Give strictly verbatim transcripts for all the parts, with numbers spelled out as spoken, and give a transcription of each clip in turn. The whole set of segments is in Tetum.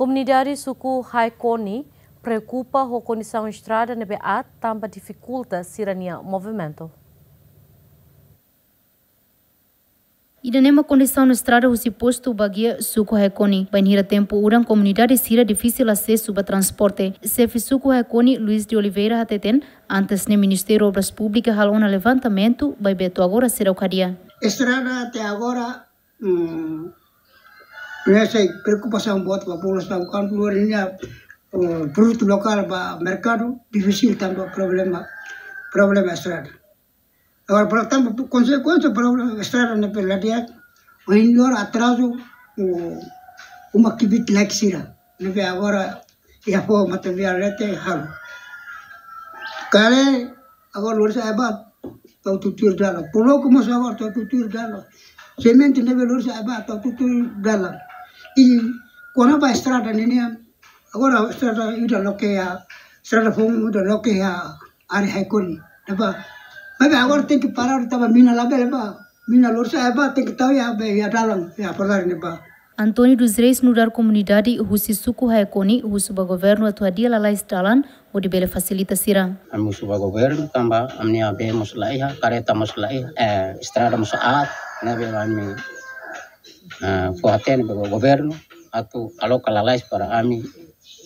Komunidade suku Haekoni preokupa ho kondisaun estrada ne'ebé aat tanba difikulta sira-nia movimentu. Ida-ne'e mak kondisaun estrada husi postu Baguia, suku Haekoni. Bainhira tempu udan, komunidade sira difisil asesu ba transporte. Xefe suku Haekoni, Luis de Oliveira, hateten, antes ne'e Ministériu Obras Públikas halo ona levantamentu, maibé to'o agora seidauk hadi'a. Estrada até agora, hum, ne'e sai preokupasaun boot ba populasaun, kuandu lori nia, eh, produtu lokál ba merkadu, difisil tanba problema, problema estrada. Agora, portantu, konsekuénsia problema estrada ne'ebé la di'ak, ohin loron atrazu, o, uma kibit lek sira. Ne'ebé agora, iha foho mata-biar leten halo. Kare, agora lori sa'e ba, tau tutuir dalan. Poloku mós agora tau tutuir dalan. Semente ne'ebé lori sa'e ba, tau tutuir dalan. I, kona-ba estrada ne'e nian, agora estrada ida loke iha, estrada foun ida loke iha área Haekoni, ne'ebá. Maibé agora tenke parar, tanba mina labele bá. Mina lori sa'e ba, tenke tau iha be, iha dalan, iha parar ne'ebá. António dos Reis nu'udar komunidade husi suku Haekoni husu ba governu atu hadi'a lalais dalan, hodi bele fasilita sira. Ami husu ba governu, tanba ami-nia bee mós la iha, kareta mós la iha, eh, estrada mós aat, ne'ebé ami, eh, fó-hatene ba governu, atu aloka lalais para ami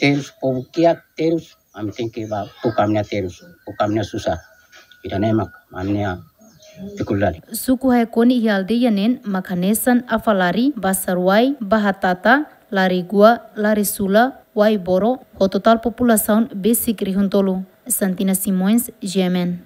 terus, povu kiak terus, ami tenke bá buka ami-nia terus, buka ami-nia susar. Ida-ne'e mak ami-nia difikuldade. Suku Haekoni iha aldeia neen mak hanesan Afalari, Basaruai, Bahatata, Larigua, Larisula, Waiboro, ho totál populasaun besik rihun tolu. Santina Simões, G M N.